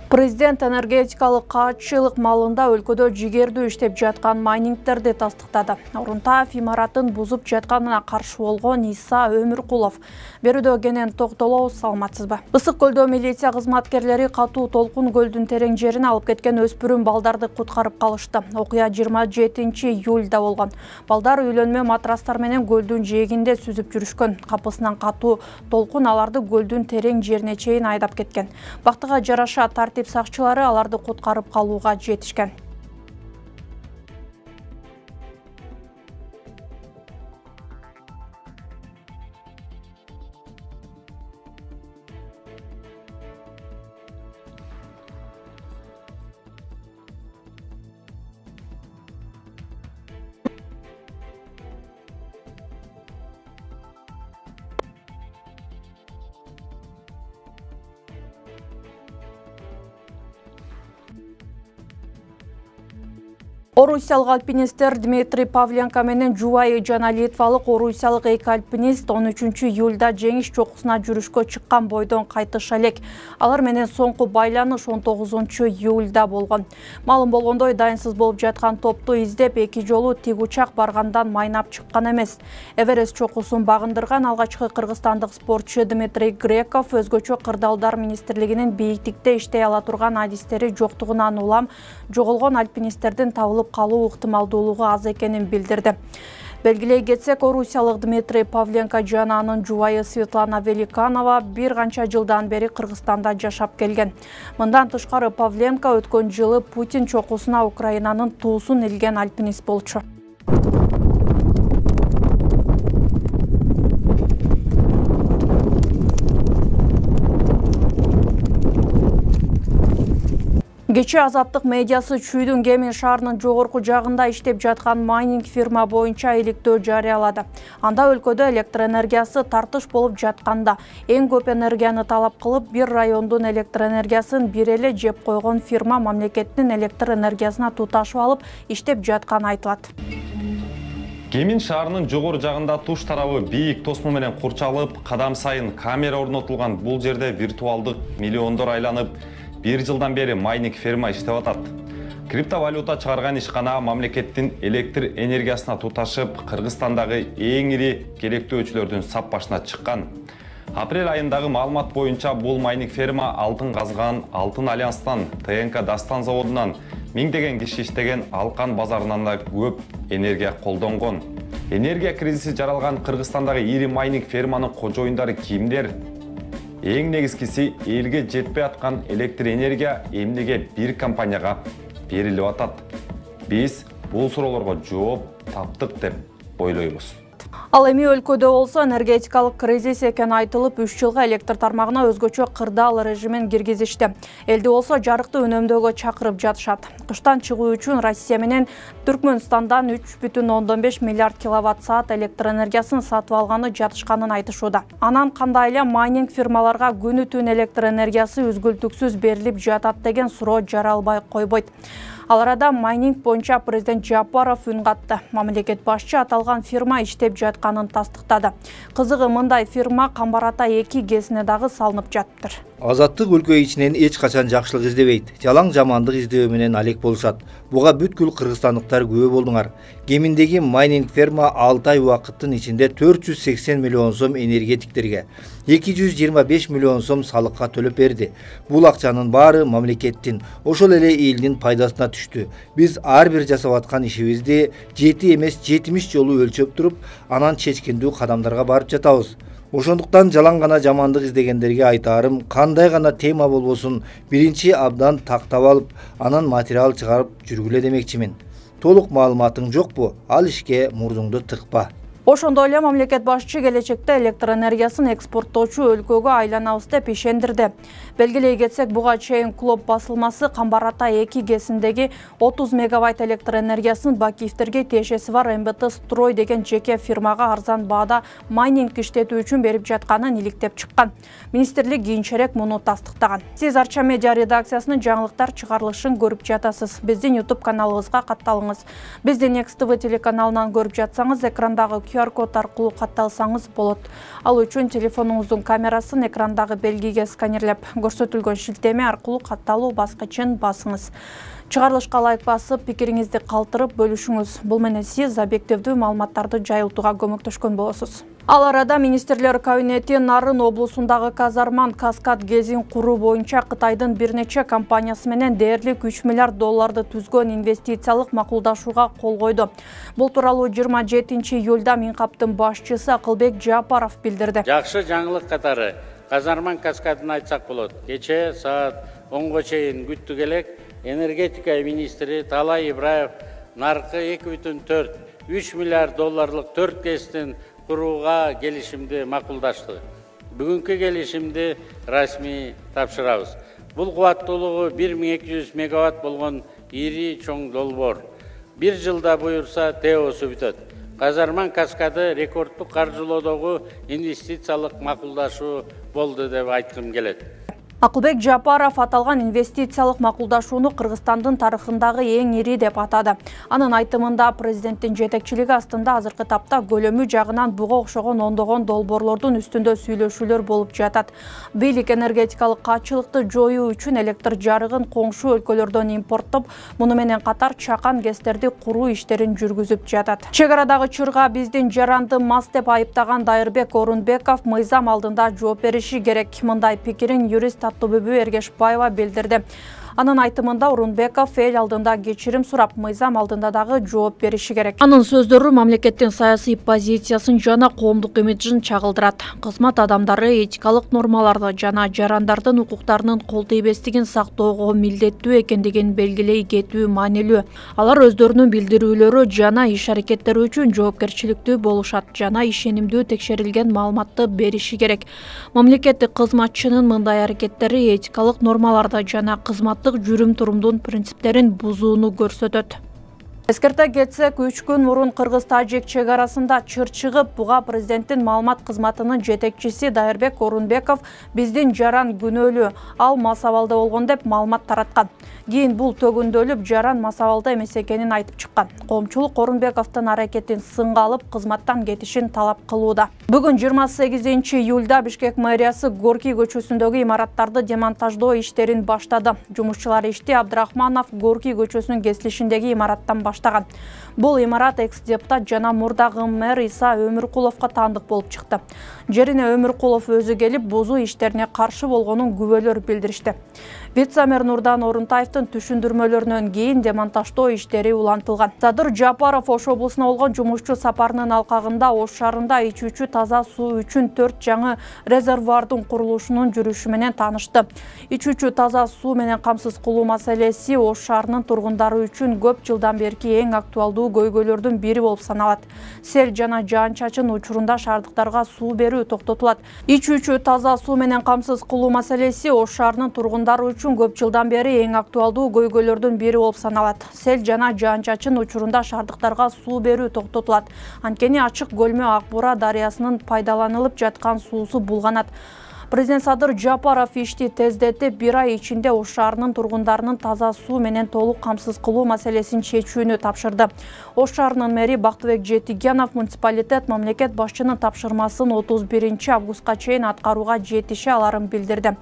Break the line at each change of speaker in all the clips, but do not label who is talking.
Президент энергетикалык каатчылык малында өлкөдө жигердүү иштеп жаткан майнингтерди тастыктады. Орунтаев имаратын бузуп жатканына каршы болгон Иса Өмүркулов берүүдө кенен токтолобуз, саламатсызбы? Ысык көлдө милиция кызматкерлери катуу толкун көлдүн терең жерине алып кеткен өспүрүм балдарды куткарып калышты. Окуя 27 июлда болгон. Балдар үйлөнмө матрастар менен көлдүн жээгинде сүзүп жүрүшкөн. Капысынан катуу толкун аларды көлдүн терең жерине чейин айдап кеткен. Бактыга жараша тартип сакчылары аларды куткарып калууга жетишкен. Орусиялык альпинисттер Дмитрий Павленко менен жубайы жана литвалык орусиялык эки альпинист 13 июлда жеңиш чокусуна жүрүшкө чыккан бойдон кайтыша элек. Алар менен соңку байланыш 19 июлда болгон. Маалым болгондой, дайынсыз болуп жаткан топту издеп эки жолу тик учак баргандан майнап чыккан эмес. Эверест чокусун багындырган алгачкы кыргызстандык спортчу Дмитрий Греков өзгөчө кырдаалдар министрлигинин бийиктикте иштей ала турган адистери жоктугунан улам жоголгон альпинисттердин табылып калуу ыктымалдуулугу аз экенин билдирди. Белгилей кетсек, орусиялык Дмитрий Павленко жана анын жубайы Светлана Великанова бир канча жылдан бери Кыргызстанда жашап келген. Мындан тышкары Павленко өткөн жылы Путин чокусуна Украинанын туусун илген альпинист болчу. Кечээ Азаттык медиасы Чүйдүн Кемин шаарынын жогорку жагында иштеп жаткан майнинг фирма боюнча иликтөө жарыялады. Анда өлкөдө электроэнергиясы тартыш болуп жатканда эң көп энергияны талап кылып, бир райондун электроэнергиясын бир эле жеп койгон фирма мамлекеттин электроэнергиясына туташып алып иштеп жатканы айтылат.
Кемин шаарынын жогору жагында туш тарабы бийик тосмо менен курчалып, кадам сайын камера орнотулган бул жерде виртуалдык миллиондор айланып, бир жылдан бери майнинг фирма иштеп атат. Криптовалюта чыгарган ишкана мамлекеттин электр энергиясына туташып, Кыргызстандагы эң ири керектөөчүлөрдүн сап башына чыккан. Апрель айындагы маалымат боюнча бул майнинг фирма алтын казган Алтын Альянстан, ТНК Дастан заводунан миңдеген киши иштеген Алкан базарынан да көп энергия колдонгон. Энергия кризиси жаралган Кыргызстандагы ири майнинг фирманын кожоюндары кимдер? Эң негизгиси, элге жетпей аткан электр энергия эмнеге бир компанияга берилип атат? Биз бул суроолорго жооп таптык деп ойлойбуз.
Ал эми өлкөдө болсо энергетикалык кризис экени айтылып, 3 жылга электр тармагына өзгөчө кырдаал режимин киргизишти. Элди болсо жарыкты үнөмдөөгө чакырып жатышат. Кыштан чыгуу үчүн Россия менен Түркмөнстандан 3,5 миллиард киловатт саат электр энергиясын сатып алганы жатышканын айтышууда. Анан кандай эле майнинг фирмаларга күнү түн электр энергиясы үзгүлтүксүз берилип жатат деген суроо жаралбай койбойт. Ал арада майнинг боюнча президент Жапаров үн катты. Мамлекет башчы аталган фирма иштеп жатканын тастыктады. Кызыгы, мындай фирма Камбар Ата 2 ГЭСине дагы салынып жатыптыр.
Азаттык өлкө ичинен эч качан жакшылык издебейт. Жалаң жамандык издөө менен алек болушат. Буга бүткүл кыргызстандыктар күбө болдуңар. Кеминдеги майнинг фирма 6 ай убакыттын ичинде 480 миллион сом энергетиктерге, 225 миллион сом салыкка төлөп берди. Бул акчанын баары мамлекеттин, ошол эле элдин пайдасына түштү. Биз ар бир жасап аткан ишибизди 7 эмес 70 жолу өлчөп туруп, анан чечкиндүү кадамдарга барып жатабыз. Ошондуктан жалаң гана жамандык издегендерге айтаарым, кандай гана тема болбосун, биринчи абдан тактап алып, анан материал чыгарып жүргүлө демекчимин. Толук маалыматың жокпу? Ал ишке мурдуңду тыкпа.
Ошондой эле мамлекет башчы келечекте электр энергиясын экспорттоочу өлкөгө айланабыз деп ишендирди. Белгилей кетсек, буга чейин Клоп басылмасы Камбар Ата 2 ГЭСиндеги 30 мегабайт электр энергиясын Бакиевтерге тиешеси бар МБТ Строй деген жеке фирмага арзан баада майнинг иштетүү үчүн берип жатканын иликтеп чыккан. Министрлик кийинчерээк муну тастыктаган. Сиз Арча медиа редакциясынын жаңылыктар чыгарылышын көрүп жатасыз. Биздин YouTube каналыбызга катталыңыз. Бизди Next TV телеканалынан көрүп жатсаңыз, экрандагы QR код аркылуу катталсаңыз болот. Ал үчүн телефонуңуздун камерасын экрандагы белгиге сканерлеп, көрсөтүлгөн шилтеме аркылуу катталуу баскычын басыңыз. Чыгарылышка лайк басып, пикириңизди калтырып бөлүшүңүз. Бул менен сиз объективдүү маалыматтарды жайылтууга көмөктөшкөн болосуз. Ал арада министрлер кабинети Нарын облусундагы Казарман Каскад ГЭСин куруу боюнча Кытайдын бир нече компаниясы менен дээрлик 3 миллиард долларды түзгөн инвестициялык макулдашууга кол койду. Бул тууралуу 27 июлда Минкаптын башчысы Акылбек Жапаров билдирди.
Жакшы жаңылык катары Казарман Каскадын айтсак болот. Кечээ саат 10го чейин күттүк элек энергетика министри Талай Ибраев наркы 2,4-3 миллиард долларлык 4 ГЭСтин курууга келишимди макулдашты. Бүгүнкү келишимди расмий тапшырабыз. Бул кубаттуулугу 1200 мегаватт болгон ири чоң долбоор. Бир жылда буюрса ТЭОсу бүтөт. Казарман Каскады рекорддук каржылоодогу инвестициялык макулдашуу болду деп айткым келет.
Акылбек Жапаров аталган инвестициялык макулдашууну Кыргызстандын тарыхындагы эң ири деп атады. Анын айтымында президенттин жетекчилиги астында азыркы тапта көлөмү жагынан буга окшогон ондогон долбоорлордун үстүндө сүйлөшүүлөр болуп жатат. Бийлик энергетикалык качылыкты жоюу үчүн электр жарыгын коңшу өлкөлөрдөн импорттоп, муну менен катар чакан ГЭСтерди куруу иштерин жүргүзүп жатат. Чек арадагы чырга биздин жаранды мас деп айыптаган Дайырбек Орунбеков мыйзам алдында жооп бериши керек. Мындай пикирин юрист Аттыбүбү Эргешбаева билдирди. Анын айтымында Орунбеков эл алдында кечирим сурап, мыйзам алдында дагы жооп бериши керек. Анын сөздөрү мамлекеттин саясий позициясын жана коомдук имиджин чагылдырат. Кызмат адамдары этикалык нормаларды жана жарандардын укуктарынын кол тийбестигин сактоого милдеттүү экендигин белгилей кетүү маанилүү. Алар өздөрүнүн билдирүүлөрү жана иш-аракеттери үчүн жоопкерчиликтүү болушат жана ишенимдүү текшерилген маалыматты бериши керек. Мамлекеттик кызматчынын мындай аракеттери этикалык нормаларды жана кызмат жүрүм-турумдун принциптерин бузууну көрсөтөт. Эскерте кетсек, 3 күн мурун Кыргыз-Тажик чек арасында чыр чыгып, буга президенттин маалымат кызматынын жетекчиси Дайырбек Орунбеков биздин жаран күнөөлүү, ал мас абалда болгон деп маалымат тараткан. Кийин бул төгүндөлүп, жаран мас абалда эмес экенин айтып чыккан. Коомчулук Орунбековдун аракетин сынга алып, кызматтан кетишин талап кылууда. Бүгүн 28 июлда Бишкек мэриясы Горький көчөсүндөгү имараттарды демонтаждоо иштерин баштады. Жумушчулар ишти Абдрахманов Горький көчөсүнүн кесилишиндеги имараттан баштаган. Бул имарат экс-депутат жана мурдагы мэр Иса Өмүркуловго таандык болуп чыкты. Жерине Өмүркулов өзү келип, бузуу иштерине каршы болгонун күбөлөр билдиришти. Вице-мэр Нурдан Орунтаевдин түшүндүрмөлөрүнөн кийин демонтаждоо иштери улантылган. Садыр Жапаров Ош облусуна болгон жумушчу сапарынын алкагында Ош шаарында ичүүчү таза суу үчүн 4 жаңы резервуардын курулушунун жүрүшү менен таанышты. Ичүүчү таза суу менен камсыз кылуу маселеси Ош шаарынын тургундары үчүн көп жылдан берки эң актуалдуу көйгөйлөрдүн бири болуп саналат. Сел жана жаан-чачын учурунда шаардыктарга суу берүү токтотулат. Ичүүчү таза суу менен камсыз кылуу маселеси Ош шаарынын тургундары үчүн көп жылдан бери эң актуалдуу көйгөйлөрдүн бири болуп саналат. Сел жана жаан-чачын учурунда шаардыктарга суу берүү токтотулат. Анткени ачык көлмө Ак Бура дарыясынын пайдаланылып жаткан суусу булганат. Президент Садыр Жапаров ишти тездетип, 1 ай ичинде Ош шаарынын тургундарынын таза суу менен толук камсыз кылуу маселесин чечүүнү тапшырды. Ош шаарынын мэри Бактыбек Жетигенов муниципалитет мамлекет башчынын тапшырмасын 31 августка чейин аткарууга жетише аларын билдирди.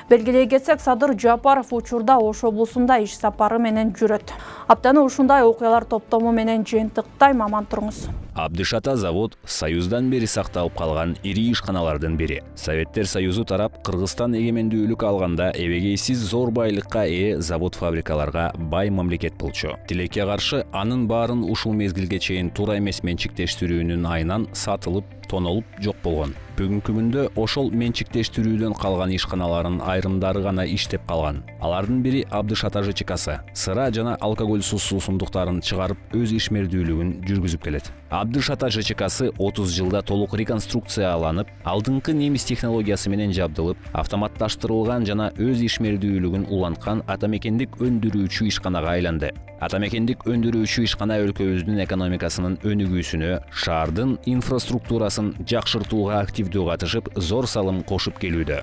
Белгилей кетсек, Садыр Жапаров учурда Ош облусунда иш сапары менен жүрөт. Аптаны ушундай окуялар топтому менен жыйынтыктайм, аман туруңуз.
Абдышата завод Союздан бери сакталып калган ири ишканалардын бири. Советтер Союзу тарап Кыргызстан эгемендүүлүк алганда эбегейсиз зор байлыкка ээ завод-фабрикаларга бай мамлекет болчу. Тилекке каршы анын баарын ушул мезгилге чейин туура эмес менчиктештирүүнүн айынан сатылып, тонолуп жок болгон. Бүгүнкү күндө ошол менчиктештирүүдөн калган ишканалардын айрымдары гана иштеп калган. Алардын бири Абдышата ЖЧКсы. Сыра жана алкоголсуз суусундуктарын чыгарып, өз ишмердүүлүгүн жүргүзүп келет. Абдышата ЖЧКсы 30 жылда толук реконструкцияланып, алдыңкы немис технологиясы менен жабдылып, автоматташтырылган жана өз ишмердүүлүгүн уланткан атамекендик өндүрүүчү ишканага айланды. Атамекендик өндүрүүчү ишкана өлкөбүздүн экономикасынын өнүгүүсүнө, шаардын инфраструктурасын жакшыртууга активдүү катышып, зор салым кошуп келүүдө.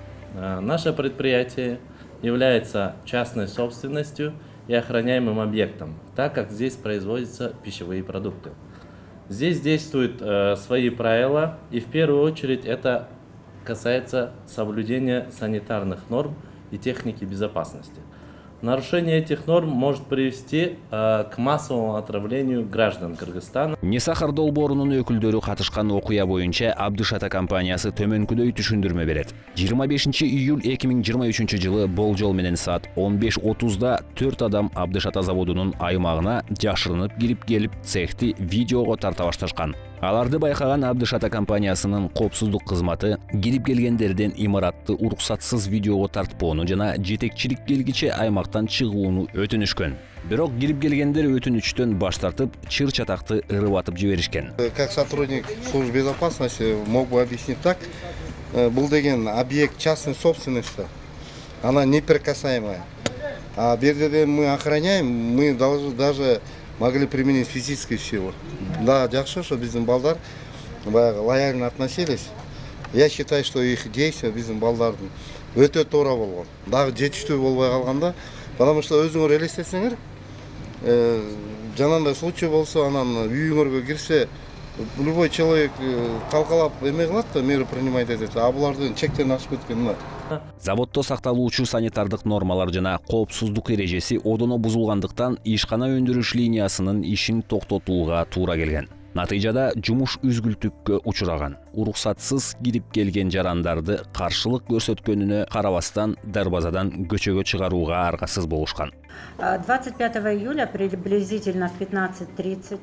Наше предприятие является частной собственностью и охраняемым объектом, так как здесь производятся пищевые продукты. Здесь действуют свои правила, и в первую очередь это касается соблюдения санитарных норм и техники безопасности. Нарушение этих норм может привести к массовому отравлению граждан Кыргызстана.
Не сахар долбоорунун өкүлдөрү катышкан окуя боюнча Абдыш Ата компаниясы төмөнкүдөй түшүндүрмө берет. 25 июль 2023 жылы болжол менен саат 15:30 4 адам Абдыш Ата заводунун аймагына жашырынып кирип келип цехти видеого тарта башташкан. Аларды байкаган Абдыш Ата компаниясынын коопсуздук кызматы кирип келгендерден имаратты уруксатсыз видеого тартпоону жана жетекчилик келгиче аймактан чыгууну өтүнүшкөн. Бирок кирип келгендер өтүнүчтөн баш тартып, чыр-чатакты ырыбатып жиберишкен.
Как сотрудник службы безопасности мог бы объяснить так, был деген объект частной собственности, она неприкасаемая. А берден мы охраняем, мы даже могли применить физическую силу. Да, жакшы, что биздин балдар лояльно относились. Я считаю, что их действия биздин балдардын өтө туура болгон. Дагы жетиштүү болбой калганда, потому что өзүңөр элестетсеңер, жанагындай случай болсо, анан үйүңөргө кирсе, любой человек талкалап эме кылат да, меру принимать этет, а булардын чектерин ашып кеткен мына.
Заводдо сакталуучу санитардык нормалар жана коопсуздук эрежеси одоно бузулгандыктан ишкана өндүрүш линиясынын ишин токтотууга туура келген. Натыйжада жумуш үзгүлтүккө учураган. Уруксатсыз кирип келген жарандарды каршылык көрсөткөнүнө карабастан дарбазадан көчөгө чыгарууга аргасыз болушкан.
25 июля приблизительно в 15:30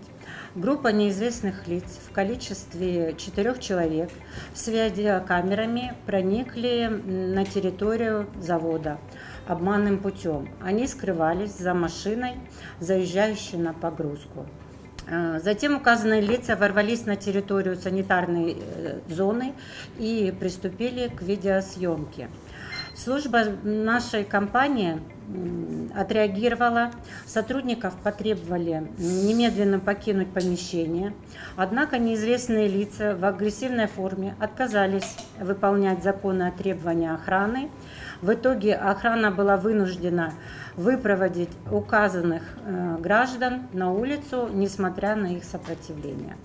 группа неизвестных лиц в количестве 4 человек с видеокамерами проникли на территорию завода обманным путем. Они скрывались за машиной, заезжающей на погрузку. Затем указанные лица ворвались на территорию санитарной зоны и приступили к видеосъемке. Служба нашей компании отреагировала, сотрудников потребовали немедленно покинуть помещение, однако неизвестные лица в агрессивной форме отказались выполнять законные требования охраны. В итоге охрана была вынуждена выпроводить указанных граждан на улицу, несмотря на их сопротивление.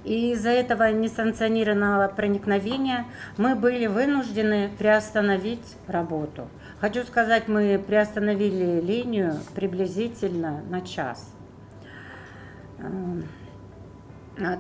И из-за этого несанкционированного проникновения мы были вынуждены приостановить работу. Хочу сказать, мы приостановили линию приблизительно на час,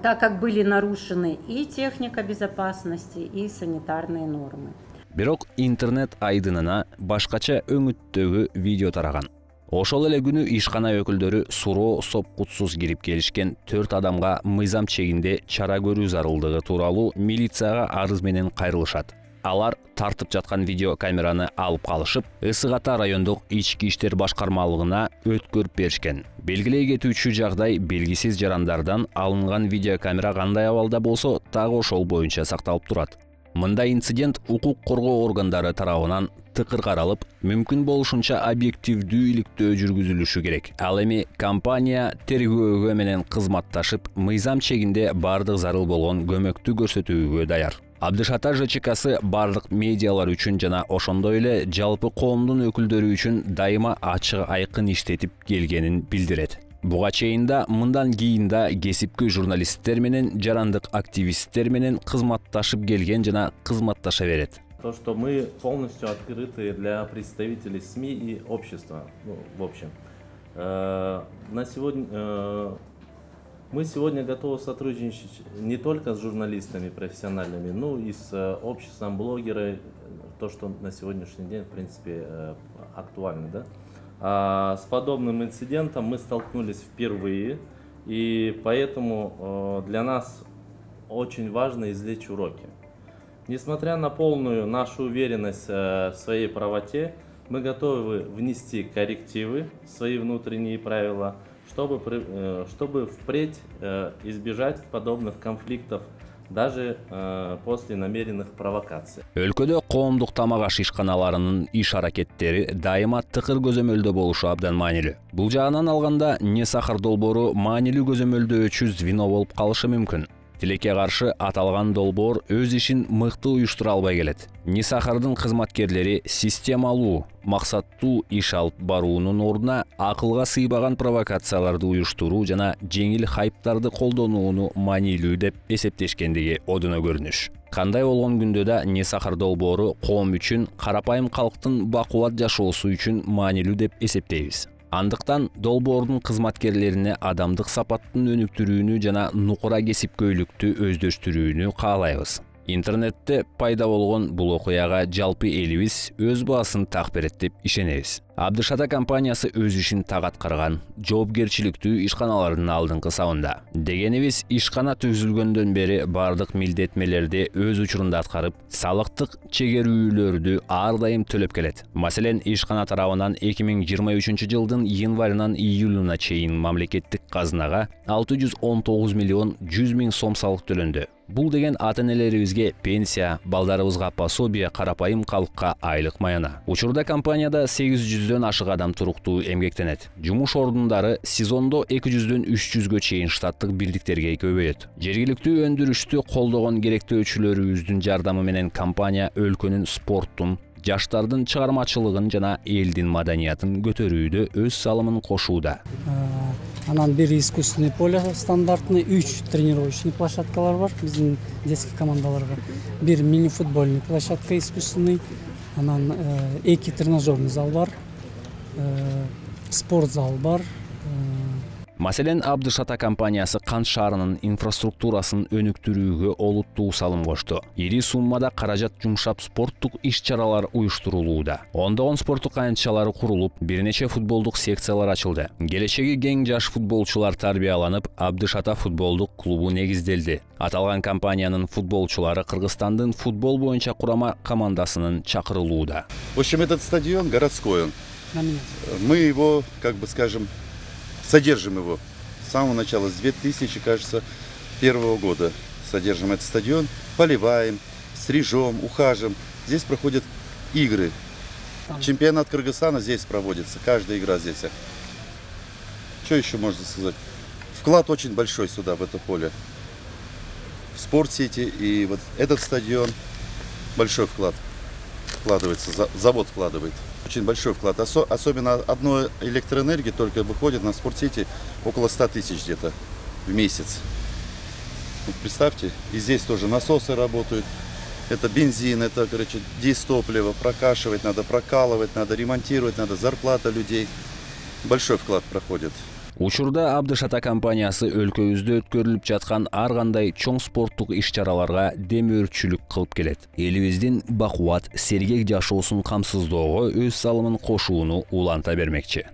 так как были нарушены и техника безопасности, и санитарные нормы.
Бирок интернет айдынына башкача өңүттөгү видео тараган. Ошол эле күнү ишкана өкүлдөрү суроо сопкутсуз кирип келишкен 4 адамга мыйзам чегинде чара көрүү зарылдыгы тууралуу милицияга арыз менен кайрылышат. Алар тартып жаткан видео камераны алып калышып, Ысык Ата райондук ички иштер башкармалыгына өткөрүп беришкен. Белгилей кетүүчү жагдай белгисиз жарандардан алынган видео камера кандай абалда болсо, так ошол боюнча сакталып турат. Мындай инцидент укук коргоо органдары тарабынан тыкыр каралып, мүмкүн болушунча объективдүү иликтөө жүргүзүлүшү керек. Ал эми компания тергөөгө менен кызматташып, мыйзам чегинде бардык зарыл болгон көмөктү көрсөтүүгө даяр. Абдыш Ата ЖЧКсы бардык медиалар үчүн жана ошондой эле жалпы коомдун өкүлдөрү үчүн дайыма ачык айкын иштетип келгенин билдирет. Буга чейин да мындан кийин да кесипкөй журналисттер менен, жарандык активисттер менен кызматташып келген жана кызматташа берет.
То, что мы полностью открыты для представителей СМИ и общества, в общем. Мы сегодня готовы сотрудничать не только с журналистами профессиональными, но и с обществом блогеров, то, что на сегодняшний день, в принципе, актуально, да? А с подобным инцидентом мы столкнулись впервые, и поэтому для нас очень важно извлечь уроки. Несмотря на полную нашу уверенность в своей правоте, мы готовы внести коррективы в свои внутренние правила, чтобы впредь избежать подобных конфликтов даже после намеренных провокаций.
Өлкөдө коомдук тамак аш ишканаларынын иш аракеттери дайыма тыкыр көзөмөлдө болушу абдан маанилүү. Бул жагынан алганда не сахар долбоору маанилүү көзөмөлдөөчү звено болуп калышы мүмкүн. Тилекке каршы аталган долбоор өз ишин мыкты уюштура албай келет. Нисахардын кызматкерлери системалуу, максаттуу иш алып баруунун ордуна акылга сыйбаган провокацияларды уюштуруу жана жеңил хайптарды колдонууну маанилүү деп эсептешкендиги одуно көрүнүш. Кандай болгон күндө да Нисахар долбоору коом үчүн, карапайым калктын бакубат жашоосу үчүн маанилүү деп эсептейбиз. Андыктан долбоордун кызматкерлерине адамдык сапаттын өнүктүрүүнү жана нукура кесипкөйлүктү өздөштүрүүнү каалайбыз. Интернетте пайда болгон бул окуяга жалпы элибиз өз баасын так берет деп ишенебиз. Абдышата компаниясы өз ишин так аткарган, жоопкерчиликтүү ишканалардын алдыңкы сабында. Дегенибиз, ишкана түзүлгөндөн бери бардык милдеттмелерди өз учурунда аткарып, салыктык чегерүүлөрдү ар дайым төлөп келет. Маселен, ишкана тарабынан 2023 жылдын январынан июлуна чейин мамлекеттик казынага 619 миллион 100 миң сом салык төлөндү. Бул деген ата-энелерибизге пенсия, балдарыбызга пособие, карапайым калкка айлык маяна. Учурда компанияда 800дөн ашык адам туруктуу эмгектенет. Жумуш ордундары сезондо 200дөн 300гө чейин штаттык бирдиктерге көбөйөт. Жергиликтүү өндүрүштү колдогон керектөөчүлөрүбүздүн жардамы менен компания өлкөнүн спорттун, жаштардын чыгармачылыгын жана элдин маданиятын көтөрүүдө өз салымын кошууда.
Анан бир искусственный поле стандартный, 3 тренировочный площадкалар бар биздин детский командаларга. Бир мини-футбольный площадка искусственный, анан 2 тренажерный зал бар, спорт зал бар.
Маселен, Абдышата компаниясы Кант шаарынын инфраструктурасын өнүктүрүүгө олуттуу салым кошту. Ири суммада каражат жумшап спорттук иш-чаралар уюштурулууда. Ондогон спорттук аянтчалары курулуп, бир нече футболдук секциялар ачылды. Келечеги кең жаш футболчулар тарбияланып, Абдышата футболдук клубу негизделди. Аталган компаниянын футболчулары Кыргызстандын футбол боюнча курама командасынын чакырылууда.
В общем, этот стадион городской, он. Мы его, как бы скажем, содержим его с самого начала, с 2000, кажется, первого года содержим этот стадион, поливаем, стрижем, ухаживаем. Здесь проходят игры. Чемпионат Кыргызстана здесь проводится, каждая игра здесь. Что еще можно сказать? Вклад очень большой сюда, в это поле. В Спортсити и вот этот стадион большой вклад вкладывается, завод вкладывает. Очень большой вклад. Особенно одной электроэнергии только выходит на Спортсити около 100 тысяч где-то в месяц. Вот представьте, и здесь тоже насосы работают. Это бензин, это, короче, дизтопливо, прокашивать надо, прокалывать надо, ремонтировать надо, зарплата людей. Большой вклад проходит.
Учурда Абдышата компаниясы өлкөбүздө өткөрүлүп жаткан ар кандай чоң спорттук иш-чараларга демөөрчүлүк кылып келет. Элибиздин бакубат, сергек жашоосун камсыздоого өз салымын кошууну уланта бермекчи.